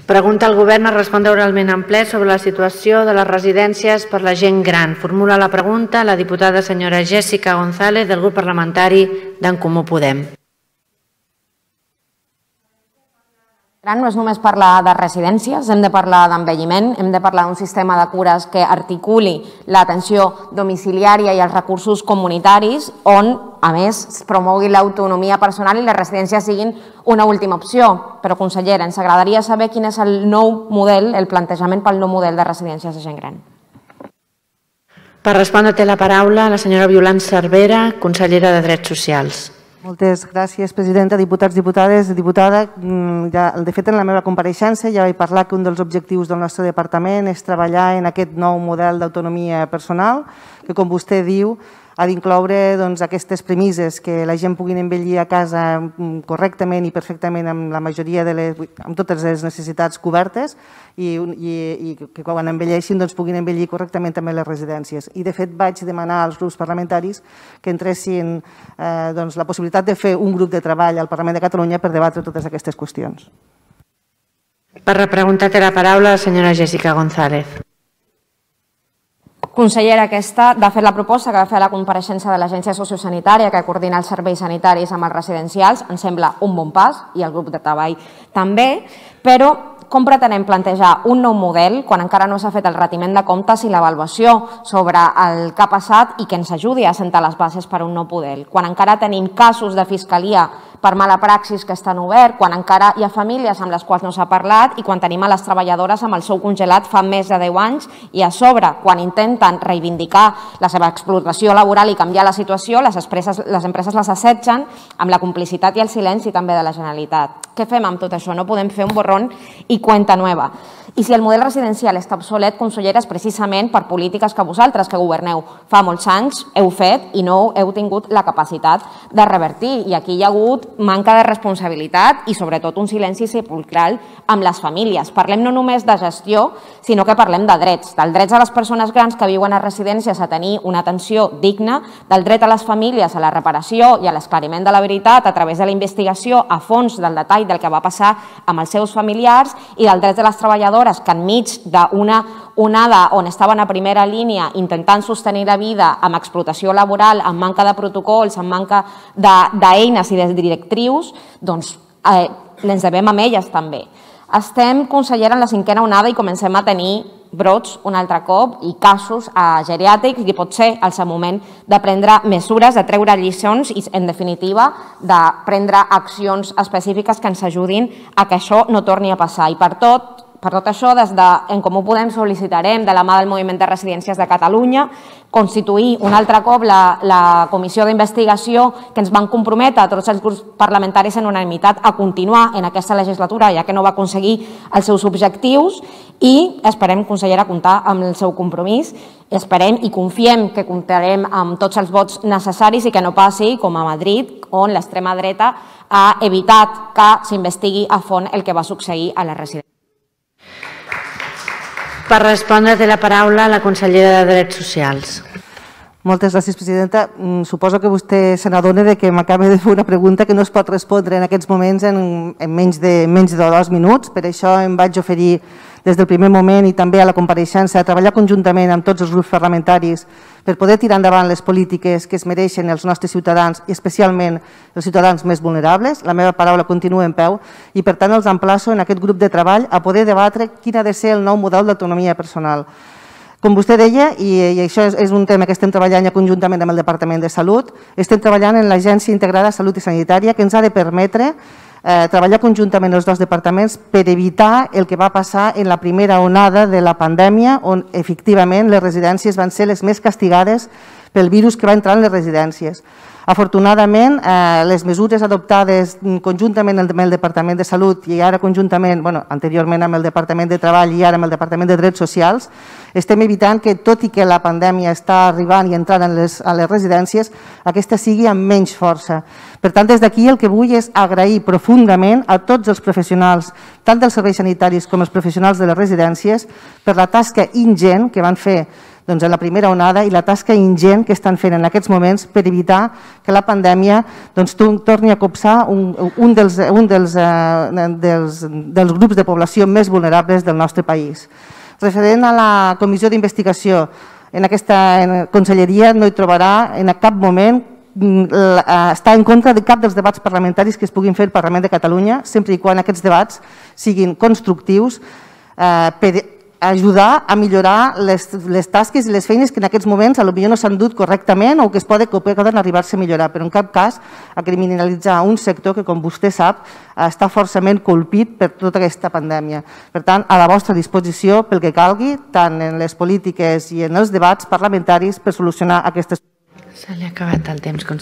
Pregunta al Govern a respondre oralment en ple sobre la situació de les residències per la gent gran. Formula la pregunta la diputada senyora Jessica González del grup parlamentari d'en Comú Podem. No és només parlar de residències, hem de parlar d'envelliment, hem de parlar d'un sistema de cures que articuli l'atenció domiciliària i els recursos comunitaris on, a més, es promogui l'autonomia personal i les residències siguin una última opció. Però, consellera, ens agradaria saber quin és el nou model, el plantejament pel nou model de residències de gent gran. Per respondre té la paraula la senyora Violant Cervera, consellera de Drets Socials. Moltes gràcies, presidenta, diputats, diputades, diputada. De fet, en la meva compareixença ja vaig parlar que un dels objectius del nostre departament és treballar en aquest nou model d'autonomia personal, que, com vostè diu, ha d'incloure aquestes premisses, que la gent pugui envellir a casa correctament i perfectament amb la majoria amb totes les necessitats cobertes i que quan envelleixin puguin envellir correctament també les residències. I de fet vaig demanar als grups parlamentaris que entressin la possibilitat de fer un grup de treball al Parlament de Catalunya per debatre totes aquestes qüestions. Per repreguntar té la paraula la senyora Jessica González. Consellera, aquesta, de fet, la proposta que va fer a la compareixença de l'Agència Sociosanitària que coordina els serveis sanitaris amb els residencials ens sembla un bon pas i el grup de treball també, però com pretenem plantejar un nou model quan encara no s'ha fet el retiment de comptes i l'avaluació sobre el que ha passat i que ens ajudi a assentar les bases per a un nou model? Quan encara tenim casos de fiscalia per mala praxis que estan oberts, quan encara hi ha famílies amb les quals no s'ha parlat i quan tenim a les treballadores amb el sou congelat fa més de 10 anys i a sobre, quan intenten reivindicar la seva explotació laboral i canviar la situació, les empreses les assetgen amb la complicitat i el silenci també de la Generalitat. Què fem amb tot això? No podem fer un borrón i cuenta nueva. I si el model residencial està obsolet, consellera, és precisament per polítiques que vosaltres, que governeu fa molts anys, heu fet i no heu tingut la capacitat de revertir. I aquí hi ha hagut manca de responsabilitat i sobretot un silenci sepulcral amb les famílies. Parlem no només de gestió, sinó que parlem de drets. Del drets a les persones grans que viuen a residències a tenir una atenció digna, del dret a les famílies a la reparació i a l'esclariment de la veritat a través de la investigació a fons del detall del que va passar amb els seus familiars i del dret de les treballadores que enmig d'una onada on estaven a primera línia intentant sostenir la vida amb explotació laboral, amb manca de protocols, amb manca d'eines i de directrius, doncs ens devem amb elles també. Estem, consellera, en la 5a onada i comencem a tenir brots un altre cop i casos geriàtrics i pot ser el seu moment de prendre mesures, de treure lliçons i, en definitiva, de prendre accions específiques que ens ajudin a que això no torni a passar. I per tot això, des d'en Comú Podem sol·licitarem, de la mà del Moviment de Residències de Catalunya, constituir un altre cop la comissió d'investigació que ens van comprometre a tots els grups parlamentaris en unanimitat a continuar en aquesta legislatura, ja que no va aconseguir els seus objectius, i esperem, consellera, comptar amb el seu compromís. Esperem i confiem que comptarem amb tots els vots necessaris i que no passi com a Madrid, on l'extrema dreta ha evitat que s'investigui a fons el que va succeir a les residències. Per respondre té la paraula la consellera de Drets Socials. Moltes gràcies, presidenta. Suposo que vostè se n'adona que m'acaba de fer una pregunta que no es pot respondre en aquests moments en menys de 2 minuts. Per això em vaig oferir des del primer moment i també a la compareixença a treballar conjuntament amb tots els grups parlamentaris per poder tirar endavant les polítiques que es mereixen els nostres ciutadans i especialment els ciutadans més vulnerables. La meva paraula continua en peu i per tant els emplaço en aquest grup de treball a poder debatre quin ha de ser el nou model d'autonomia personal. Com vostè deia, i això és un tema que estem treballant ja conjuntament amb el Departament de Salut, estem treballant en l'Agència Integrada de Salut i Sanitària que ens ha de permetre treballar conjuntament els dos departaments per evitar el que va passar en la primera onada de la pandèmia, on efectivament les residències van ser les més castigades pel virus que va entrar en les residències. Afortunadament, les mesures adoptades conjuntament amb el Departament de Salut i ara conjuntament, anteriorment amb el Departament de Treball i ara amb el Departament de Drets Socials, estem evitant que, tot i que la pandèmia està arribant i entrant a les residències, aquesta sigui amb menys força. Per tant, des d'aquí el que vull és agrair profundament a tots els professionals, tant dels serveis sanitaris com els professionals de les residències, per la tasca ingent que van fer en la primera onada i la tasca ingent que estan fent en aquests moments per evitar que la pandèmia torni a copsar un dels grups de població més vulnerables del nostre país. Referent a la comissió d'investigació, en aquesta conselleria no hi trobarà en cap moment està en contra de cap dels debats parlamentaris que es puguin fer al Parlament de Catalunya, sempre i quan aquests debats siguin constructius per ajudar a millorar les tasques i les feines que en aquests moments potser no s'han dut correctament o que poden arribar-se a millorar, però en cap cas a criminalitzar un sector que, com vostè sap, està forçament colpit per tota aquesta pandèmia. Per tant, a la vostra disposició pel que calgui, tant en les polítiques i en els debats parlamentaris per solucionar aquestes. Se li ha acabat el temps, conseller.